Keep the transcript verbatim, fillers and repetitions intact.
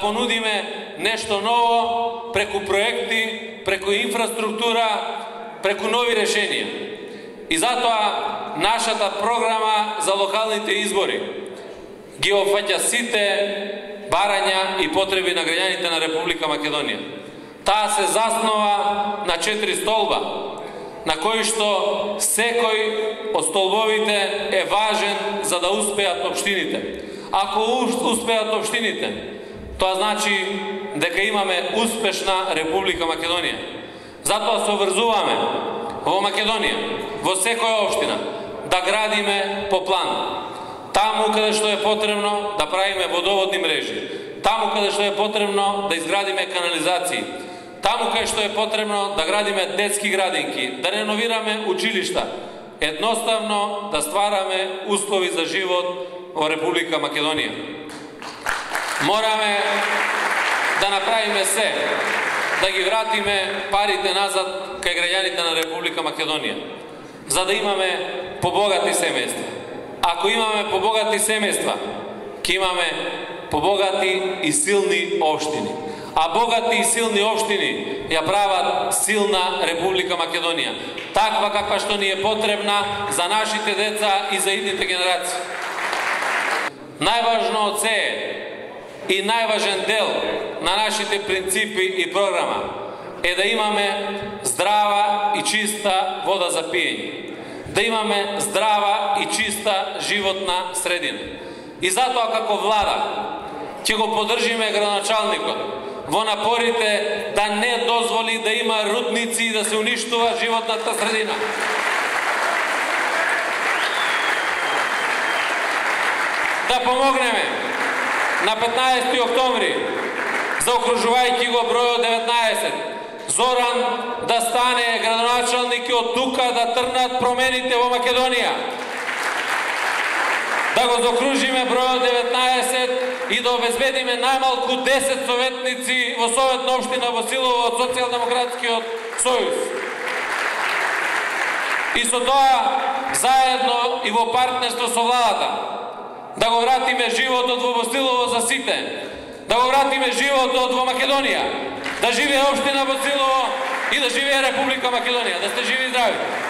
понудиме нешто ново преку проекти, преку инфраструктура, преку нови решенија. И затоа нашата програма за локалните избори ги опфаќа сите барања и потреби на граѓаните на Република Македонија. Таа се заснова на четири столба, на кои што секој од столбовите е важен за да успеат општините. Ако успеат општините, тоа значи дека имаме успешна Република Македонија. Затоа се обврзуваме во Македонија, во секоја општина, да градиме по план. Таму каде што е потребно да правиме водоводни мрежи, таму каде што е потребно да изградиме канализации, таму каде што е потребно да градиме детски градинки, да реновираме училишта, едноставно да ствараме услови за живот во Република Македонија. Мораме да направиме се, да ги вратиме парите назад кај граѓаните на Република Македонија, за да имаме побогати семејства. Ако имаме побогати семејства, ќе имаме побогати и силни општини. А богати и силни општини ја прават силна Република Македонија, таква каква што ни е потребна за нашите деца и за идните генерации. Најважно од се и најважен дел на нашите принципи и програма е да имаме здрава и чиста вода за пиење, да имаме здрава и чиста животна средина. И затоа како влада ќе го поддржиме градоначалникот во напорите да не дозволи да има рудници и да се уништува животната средина. Да помогнеме на петнаесети октомври, заокружувајќи го бројот деветнаесет, Зоран да стане градоначалник и од тука да трнат промените во Македонија. Да го заокружиме бројот деветнаесет и да обезбедиме најмалку десет советници во Советна општина Василово од Социјалдемократскиот сојуз. И со тоа, заедно и во партнерство со владата, да го вратиме животот во Василово за сите, да го вратиме животот во Македонија, да живее општина Василово и да живее Република Македонија. Да сте живи и здрави!